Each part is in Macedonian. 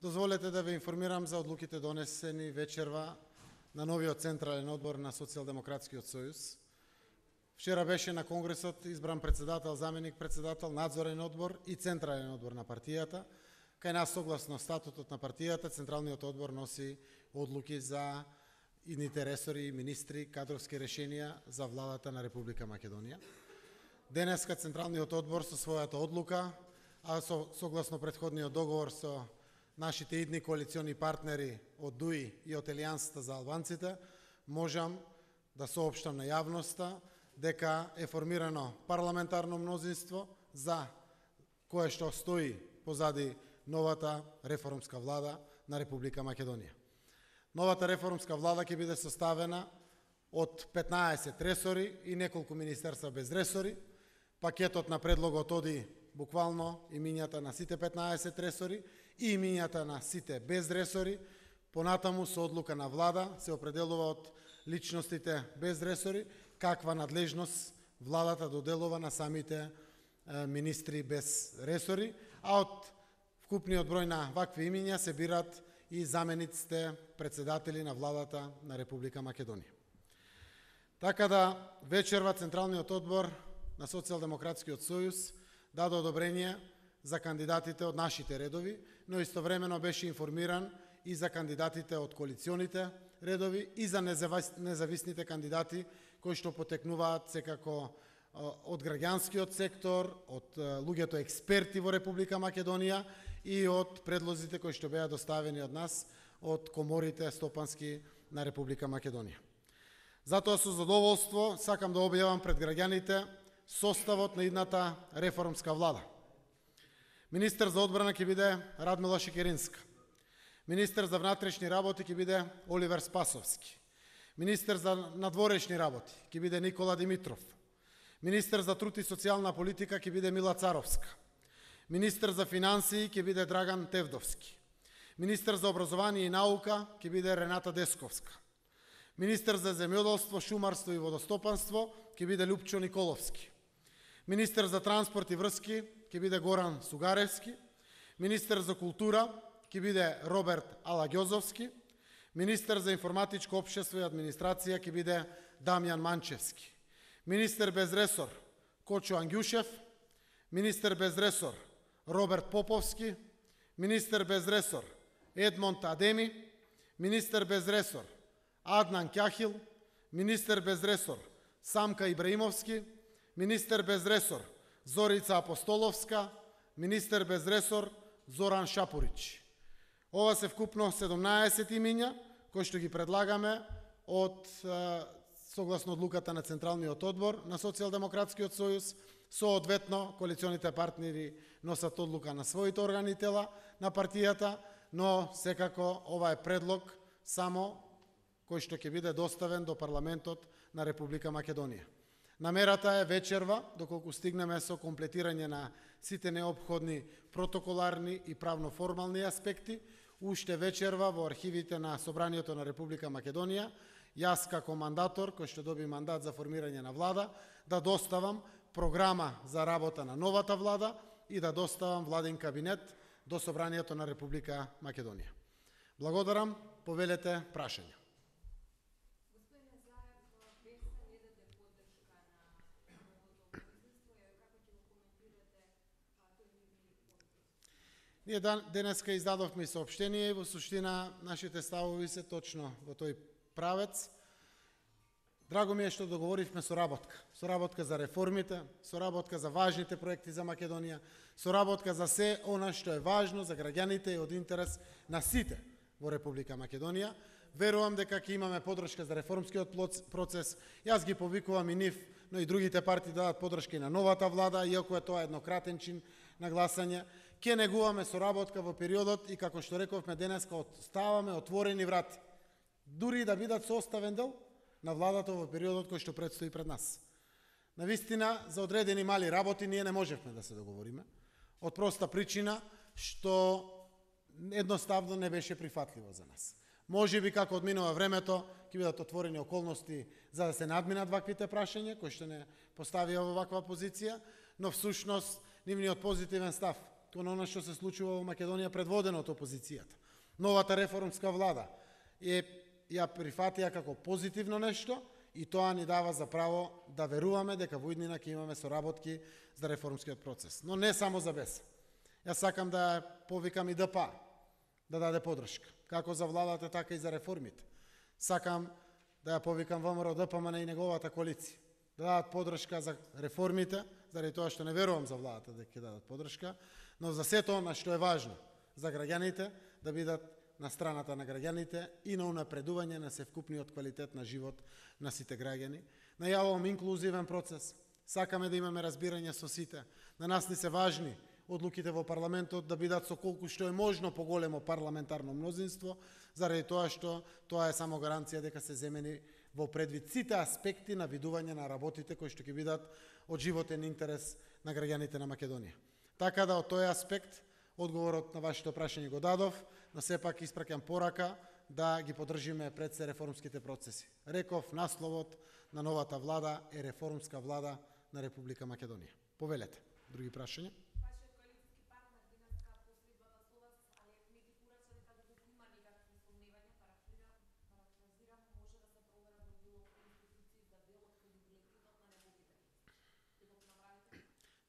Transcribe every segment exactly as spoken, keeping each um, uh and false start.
Дозволете да ве информирам за одлуките донесени вечерва на новиот Централен одбор на Социјалдемократскиот сојуз. Вчера беше на Конгресот избран председател, заменик председател, надзорен одбор и Централен одбор на партијата. Кај нас, согласно статутот на партијата, Централниот одбор носи одлуки за идните ресори, министри, кадровски решенија за владата на Република Македонија. Денеска Централниот одбор со својата одлука, а со, согласно претходниот договор со нашите идни коалициони партнери од ДУИ и од Елијансата за албанците, можам да соопштам на јавноста дека е формирано парламентарно мнозинство за кое што стои позади новата реформска влада на Република Македонија. Новата реформска влада ќе биде составена од петнаесет ресори и неколку министерства без ресори. Пакетот на предлогот оди буквално имињата на сите петнаесет ресори и имињата на сите без ресори. Понатаму со одлука на влада се определува од личностите без ресори каква надлежност владата доделува на самите е, министри без ресори, а од вкупниот број на вакви имиња се бират и замениците председатели на владата на Република Македонија. Така да вечерва Централниот одбор на Социјалдемократскиот сојуз даде одобрение за кандидатите од нашите редови, но истовремено беше информиран и за кандидатите од коалиционите редови и за независните кандидати кои што потекнуваат секако од граѓанскиот сектор, од луѓето експерти во Република Македонија и од предлозите кои што беа доставени од нас од коморите стопански на Република Македонија. Затоа со задоволство сакам да објавам пред граѓаните составот на идната реформска влада. Министер за одбрана ќе биде Радмила Шекеринска. Министер за внатрешни работи ќе биде Оливер Спасовски. Министер за надворешни работи ќе биде Никола Димитров. Министер за труд и социјална политика ќе биде Мила Царовска. Министер за финансии ќе биде Драган Тевдовски. Министер за образование и наука ќе биде Рената Десковска. Министер за земјоделство, шумарство и водостопанство ќе биде Лупчо Николовски. Министер за транспорт и врски ќе биде Горан Сугаревски. Министер за култура ќе биде Роберт Алагјозовски. Министер за информатичко општество и администрација ќе биде Дамјан Манчевски. Министер без ресор Кочо Ангјушев. Министер без ресор Роберт Поповски. Министер без ресор Едмонд Адеми. Министер без ресор Аднан Кјахил. Министер без ресор Самка Ибраимовски. Министер без ресор Зорица Апостоловска. Министер без ресор Зоран Шапурич. Ова се вкупно седумнаесет имиња кои што ги предлагаме од согласно одлуката на Централниот одбор на Социјалдемократскиот сојуз. Соодветно коалиционите партнери носат одлука на своите органи и тела на партијата, но секако ова е предлог само кој што ќе биде доставен до парламентот на Република Македонија. Намерата е вечерва, доколку стигнеме со комплетирање на сите неопходни протоколарни и правно-формални аспекти, уште вечерва во архивите на Собранието на Република Македонија, јас како мандатор, кој што доби мандат за формирање на влада, да доставам програма за работа на новата влада и да доставам владин кабинет до Собранието на Република Македонија. Благодарам, повелете прашања. Ние денеска издадовме соопштение и во суштина нашите ставови се точно во тој правец. Драго ми е што договоривме соработка. Соработка за реформите, соработка за важните проекти за Македонија, соработка за се она што е важно за граѓаните и од интерес на сите во Република Македонија. Верувам дека ќе имаме поддршка за реформскиот процес. Јас ги повикувам и нив, но и другите партии да дадат поддршка и на новата влада, иако е тоа еднократен чин на гласање. Ке негуваме соработка во периодот и како што рековме денеска, оставаме отворени врати. Дури да бидат составен дел на владата во периодот кој што предстои пред нас. Навистина, за одредени мали работи ние не можевме да се договориме, од проста причина што едноставно не беше прифатливо за нас. Може би како одминува времето, ќе бидат отворени околности за да се надминат ваквите прашања, кои што не поставија во ваква позиција, но всушност нивниот позитивен став кон она што се случува во Македонија предводено од опозицијата. Новата реформска влада е ја прифатија како позитивно нешто и тоа ни дава за право да веруваме дека во иднина ќе имаме соработки за реформскиот процес. Но не само за БЕС. Јас сакам да повикам и ДПА да даде подршка, како за владата, така и за реформите. Сакам да ја повикам ВМРО ДПМН и неговата коалиција да дадат подршка за реформите, заради тоа што не верувам за владата дека ќе дадат подршка, но за сето она што е важно за граѓаните, да бидат на страната на граѓаните и на унапредување на севкупниот квалитет на живот на сите граѓани. Најавувам инклузивен процес. Сакаме да имаме разбирање со сите. На нас ни се важни одлуките во парламентот да бидат со колку што е можно поголемо парламентарно мнозинство, заради тоа што тоа е само гаранција дека се земени во предвид сите аспекти на видување на работите кои што ќе бидат од животен интерес на граѓаните на Македонија. Така да од тој аспект одговорот на вашето прашање го дадов, но сепак испраќам порака да ги поддржиме пред се реформските процеси. Реков, насловот на новата влада е реформска влада на Република Македонија. Повелете. Други прашања?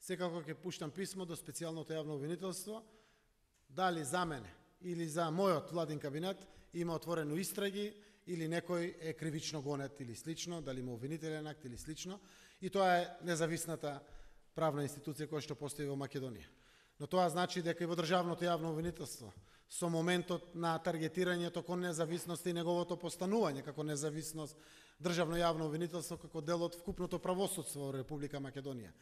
Секако ќе пуштам писмо до специјалното јавно обвинителство, дали за мене или за мојот владин кабинет има отворено истраги или некој е кривично гонет или слично, дали има обвинителен акт или слично, и тоа е независната правна институција која што постои во Македонија. Но тоа значи дека и во државното јавно обвинителство со моментот на таргетирањето кон независност и неговото постанување како независност државно јавно обвинителство како дел од вкупното правосудство во Република Македонија.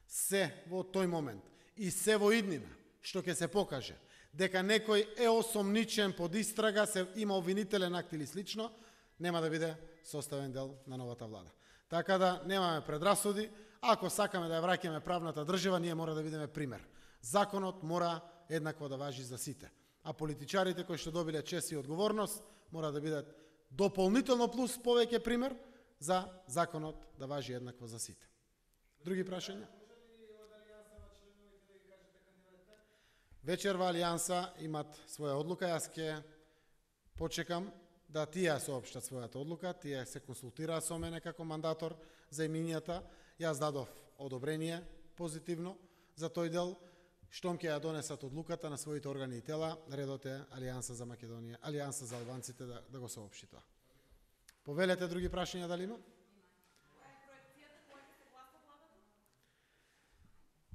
Се во тој момент и се во иднина што ќе се покаже дека некој е осомничен под истрага, се има обвинителен акт или слично, нема да биде составен дел на новата влада. Така да немаме предрасуди, ако сакаме да ја враќаме правната држава, ние мора да бидеме пример. Законот мора еднакво да важи за сите, а политичарите кои што добиле чест и одговорност мора да бидат дополнително плюс повеќе пример за законот да важи еднакво за сите. Други прашања? Вечерва Алијанса имат своја одлука, јас ќе почекам да тие соопштат својата одлука, тие се консултираа со мене како мандатор за имињата, јас дадов одобрение позитивно за тој дел, штом ќе ја донесат одлуката на своите органи и тела, редот е Алијанса за Македонија, Алијанса за албанците да, да го соопшти тоа. Повелете други прашања дали има?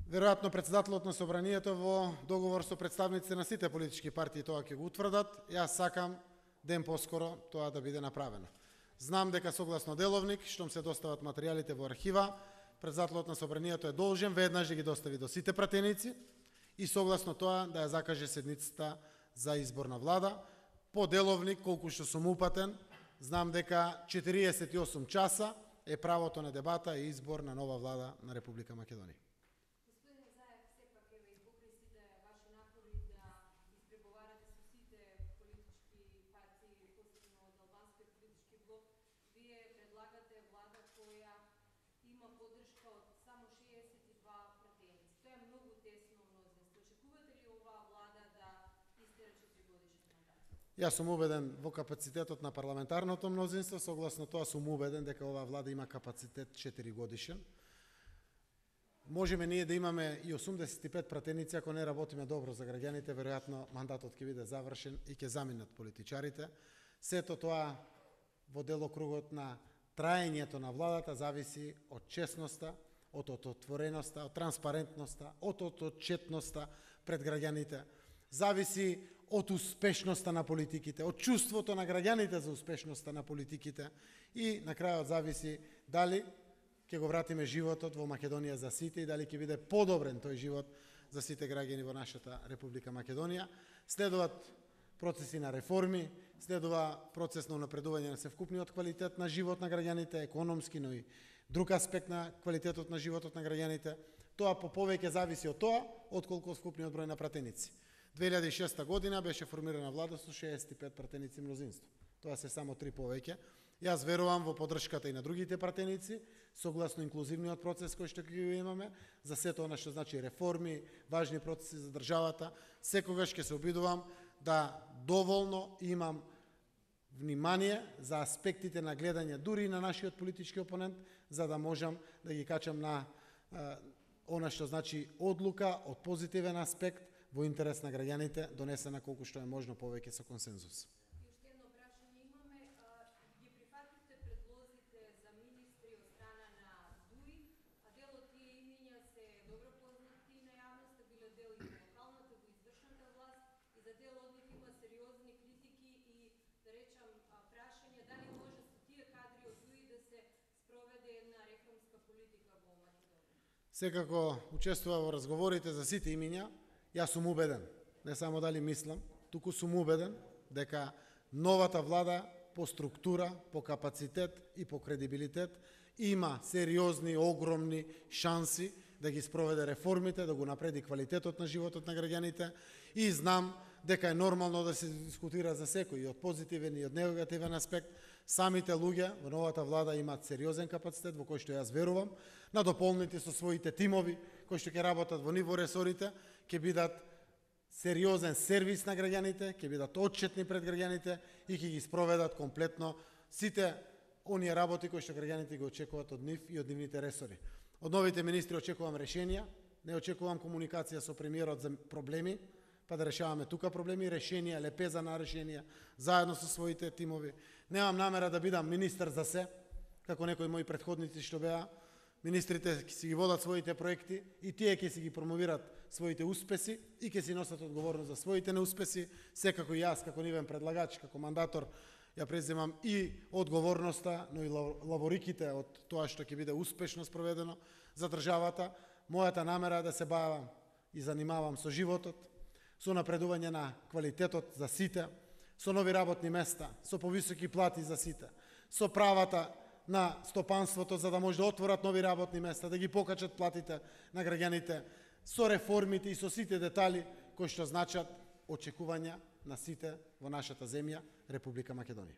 Веројатно председателот на собранието во договор со представниците на сите политички партии тоа ќе го утврдат. Јас сакам ден поскоро тоа да биде направено. Знам дека согласно деловник, штом се достават материјалите во архива, председателот на собранието е должен веднаш да ги достави до сите пратеници и согласно тоа да ја закаже седницата за избор на влада. По деловник, колку што сум упатен, знам дека четириесет и осум часа е правото на дебата и избор на нова влада на Република Македонија. Јас сум убеден во капацитетот на парламентарното мнозинство, согласно тоа сум убеден дека оваа влада има капацитет четири годишен. Можеме ние да имаме и осумдесет и пет пратеници, ако не работиме добро за граѓаните, веројатно мандатот ќе биде завршен и ќе заминат политичарите. Сето тоа во делокругот на траењето на владата зависи од честноста, од отвореноста, од транспарентноста, од отчетноста пред граѓаните. Зависи од успешноста на политиките, од чувството на граѓаните за успешноста на политиките и на крајот зависи дали ќе го вратиме животот во Македонија за сите и дали ќе биде подобрен тој живот за сите граѓани во нашата Република Македонија. Следуваат процеси на реформи, следува процес на унапредување на севкупниот квалитет на живот на граѓаните, економски, но и друг аспект на квалитетот на животот на граѓаните. Тоа по повеќе зависи од тоа, отколку од вкупниот број на пратеници. две илјади и шеста година беше формирана влада со шеесет и пет пратеници мнозинство. Тоа се само три повеќе Јас верувам во поддршката и на другите пратеници, согласно инклузивниот процес кој што ќе го имаме, за сето она што значи реформи, важни процеси за државата. Секогаш ќе се обидувам да доволно имам внимание за аспектите на гледање дури и на нашиот политички опонент, за да можам да ги качам на а, она што значи одлука од позитивен аспект во интерес на граѓаните, донесена колку што е можно повеќе со консензус. Уште едно прашање имаме. Ги прифативте предлозите за министри од страна на ДУИ, а дел од тие имиња се добро познати на јавноста, биле дел и во локалната, во извршната власт, и за дел од нив има сериозни критики и, да речам, прашање дали може со тие кадри од ДУИ да се спроведе една реформска политика во Македонија. Секако учествува во разговорите за сите имиња. Јас сум убеден, не само дали мислам, туку сум убеден дека новата влада по структура, по капацитет и по кредибилитет има сериозни, огромни шанси да ги спроведе реформите, да го напреди квалитетот на животот на граѓаните, и знам дека е нормално да се дискутира за секој, и од позитивен и од негативен аспект. Самите луѓе во новата влада имаат сериозен капацитет, во кој што јас верувам, надополнети со своите тимови, кои што ќе работат во ниво ресорите, ќе бидат сериозен сервис на граѓаните, ќе бидат отчетни пред граѓаните и ќе ги спроведат комплетно сите оние работи кои што граѓаните ги очекуваат од нив и од нивните ресори. Од новите министри очекувам решенија, не очекувам комуникација со премиерот за проблеми, па да решаваме тука проблеми, решенија, лепеза на решенија, заедно со своите тимови. Немам намера да бидам министер за се, како некои мои претходници што беа. Министрите ќе си ги водат своите проекти и тие ќе си ги промовират своите успеси и ќе си носат одговорност за своите неуспеси. Секако и јас, како нивен предлагач, како мандатор, ја преземам и одговорноста, но и лавориките од тоа што ќе биде успешно спроведено за државата. Мојата намера е да се бавам и занимавам со животот, со напредување на квалитетот за сите, со нови работни места, со повисоки плати за сите, со правата на стопанството за да може да отворат нови работни места, да ги покачат платите на граѓаните, со реформите и со сите детали кои што значат очекувања на сите во нашата земја, Република Македонија.